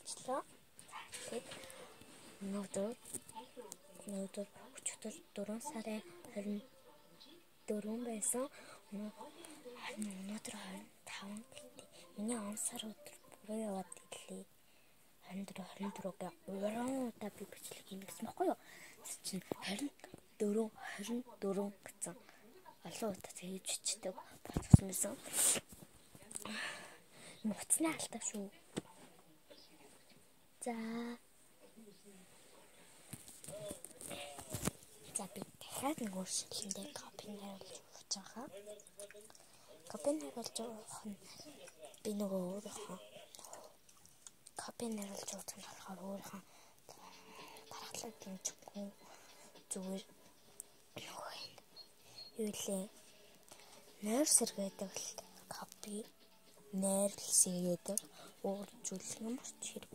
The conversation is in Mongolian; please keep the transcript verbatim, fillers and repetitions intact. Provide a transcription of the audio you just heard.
болчихлоо. Тэгээд өнөөдөр өнөөдөр өчигдөр дөрвөн сарын хорин дөрвөн байсан. Өнөөдөр хорин таван гэлтэй. Миний он сар өдөр буруу яваад ирлээ. хорин дөрөв хорин дөрөвгээ уран удаа би бичлэг хийх гэсэн байхгүй юу? Чинь хорин дөрөв хорин дөрөв гэсэн олон удаа хийж бичдэг болсон байсан. Нуцны алдаа шүү. За. За би дахиад нэг өөрчлөлтөндөө копи харуулж өгч байгаа. Копи харуулж өгөх нь би нөгөө өөрийнхөө копи харуулж өгөх нь болохоор өөрийнхөө дараатлаг дэмжихгүй зүгээр юу лээ. Нойр сэргээдэг л копи найрлсан гэдэг өөр зүйл юм ч хэрэг